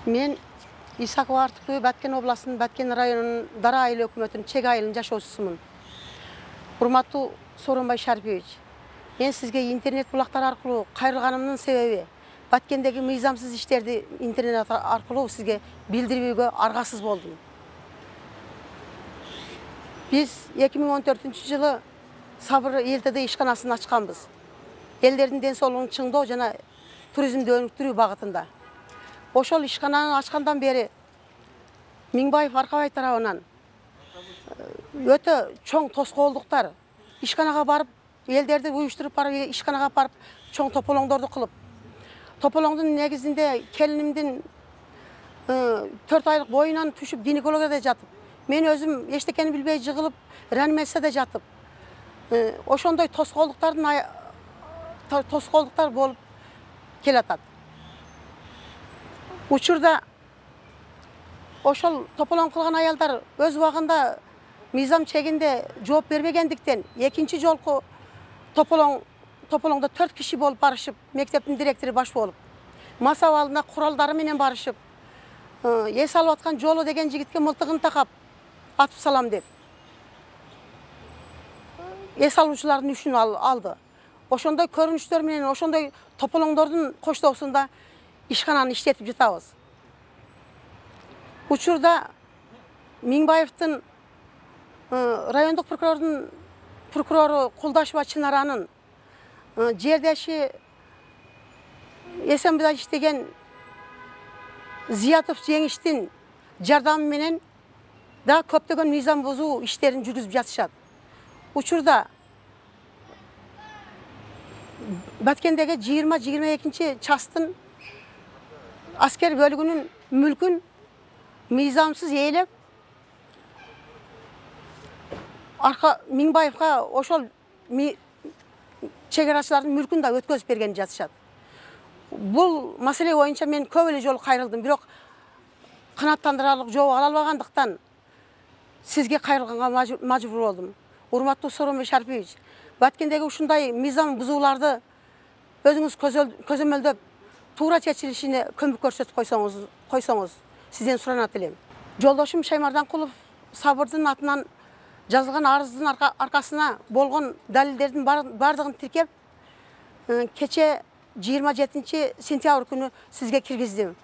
Мен Исакова Артыкбүй, Баткен областынын Баткен районунун Дара айыл өкмөтүнүн чек айылынын жашоочусумун. Урматтуу Сооронбай Шарипович, мен сизге интернет булактар аркылуу кайрылганымдын себеби Баткендеги мыйзамсыз иштерди интернет аркылуу сизге билдирүүгө аргасыз болдум. Биз 2014-жылы Сабыр ЛТД ишканасын ачканбыз. Элдердин ден соолугун чыңдоо жана туризмди өнүктүрүү багытында. Ошол ишкананы ачкандан бери Миңбаев Аркабай тарабынан өтө чоң тоскоолдуктар, ишканага барып, элдерди уюштуруп барып, ишканага барып, чоң тополоңдорду кылып, тополоңдун негизинде келинимдин 4 айлык боюнан түшүп гинекологияда жатып, мен өзүм эчтекени билбей жыгылып, реанимацияда жатып, ошондой тоскоолдуктар болуп келатат. Учурда ошол тополоң кылган аялдар өз убагында мыйзам чегинде жооп бербегендиктен экинчи жолку тополоңдо 4 киши болуп барышып, мектептин директору баш болуп, мас абалына куралдары менен барышып, эс алып аткан Жолу деген жигитке мылтыгын такап атып салам деп эс алуучулардын үшүн алды. Ошондой көрүнүштөр менен, ошондой тополоңдордун коштоосунда ишкананы иштетип жатабыз. Учурда Миңбаевдин райондук прокурору Кулдашева Чынаранын жердеши СМБда иштеген Зиятов Жеңиштин жардамы менен да көптөгөн мыйзам бузуу иштерин жүргүзүп жатышат. Учурда Баткендеги 20-22 частын аскер бөлүгүнүн мүлкүн мыйзамсыз ээлеп, Миңбаевга ошол чегарачылардын мүлкүн да өткөзүп берген жатышат. Бул маселе боюнча мен көп эле жолу кайрылдым, бирок канааттандырарлык жооп ала албагандыктан сизге кайрылганга мажбур болдум. Урматтуу Сооронбай Шарипович, Баткендеги ушундай мыйзам бузууларды өзүңүз көзөмөлдөп, туура чечилишине көмөк көрсөтүп койсоңуз, сизден суранат элем. Жолдошум Шаймарданкулов Сабырдын атынан жазылган арыздын аркасына болгон далилдердин бардыгын тиркеп, кече 27 сентябрь күнү сизге киргиздим.